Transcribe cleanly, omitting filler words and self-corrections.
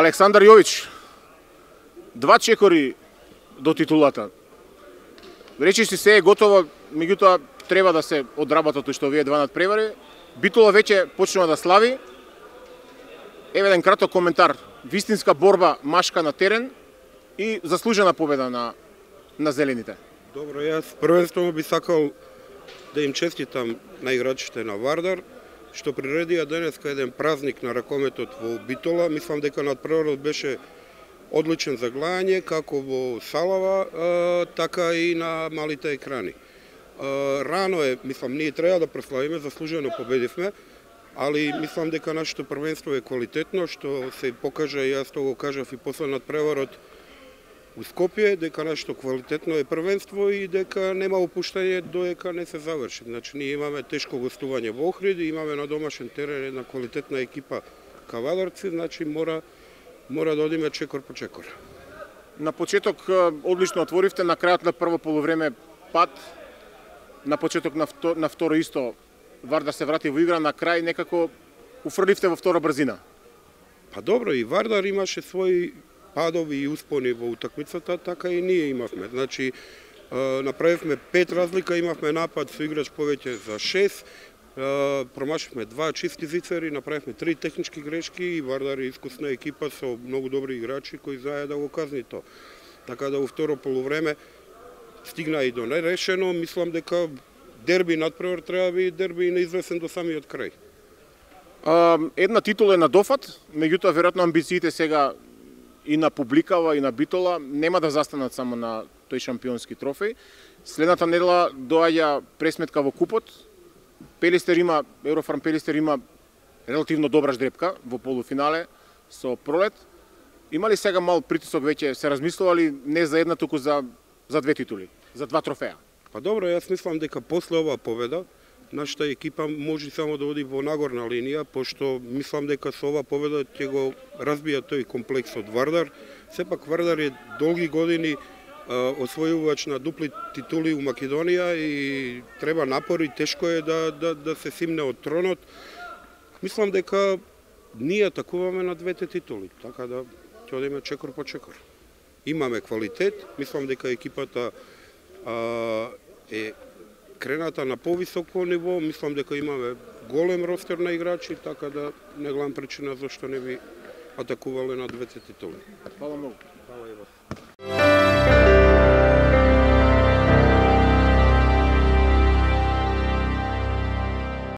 Александар Јович, 2 чекори до титулата. Речиш си се е готово, меѓутоа треба да се одработат што овие два надпревари. Битола веќе почнува да слави. Еве еден краток коментар. Вистинска борба машка на терен и заслужена победа на зелените. Добро, јас првенствено би сакал да им честитам на играчите на Вардар, што приредија денеска еден празник на ракометот во Битола. Мислам дека надпреварот беше одличен за гледање, како во салава, така и на малите екрани. Рано е, мислам, ние треба да прославиме, заслужено победивме, али мислам дека нашето првенство е квалитетно, што се покажа, и јас тоа го кажав и после надпреварот у Скопје, дека нашето квалитетно е првенство и дека нема опуштање додека не се заврши. Значи, ние имаме тешко гостување во Охрид, имаме на домашен терен една квалитетна екипа Кавадарци, значи мора да одиме чекор по чекор. На почеток одлично отворивте, на крајот на прво полувреме пат, на почеток на второ исто Вардар се врати во игра, на крај некако уфрливте во втора брзина. Па добро, и Вардар имаше своји падови и успони во утакмицата, така и ние имавме. Значи, направивме 5 разлика, имавме напад со играч повеќе за 6, промашивме 2 чисти зицери, направивме 3 технички грешки и Вардар е искусна екипа со многу добри играчи кои знаеа да го казни тоа. Така да во второ полувреме стигна и до нерешено, мислам дека дерби надпревар треба да биде дерби и неизвестен до самиот крај. Една титула е на дофат, меѓутоа веројатно амбициите сега и на публикава и на Битола нема да застанат само на тој шампионски трофеј. Следната недела доаѓа пресметка во купот. Еврофарм Пелистер има релативно добра ждрепка во полуфинале со Пролет. Има ли сега мал притисок, веќе се размислували не за една, туку за 2 титули, за 2 трофеја? Па добро, јас мислам дека после оваа победа нашата екипа може само да оди во нагорна линија, пошто мислам дека со оваа победа ќе го разбија тој комплекс од Вардар. Сепак Вардар е долги години освојувач на дупли титули у Македонија и треба напори, тешко е да се симне од тронот. Мислам дека ние атакуваме на 2 титули, така да ќе одиме чекор по чекор. Имаме квалитет, мислам дека екипата е крената на повисоко ниво, мислам дека имаме голем ростер на играчи, така да не гледам причина зашто не би атакувале на 2 титули. Фала многу.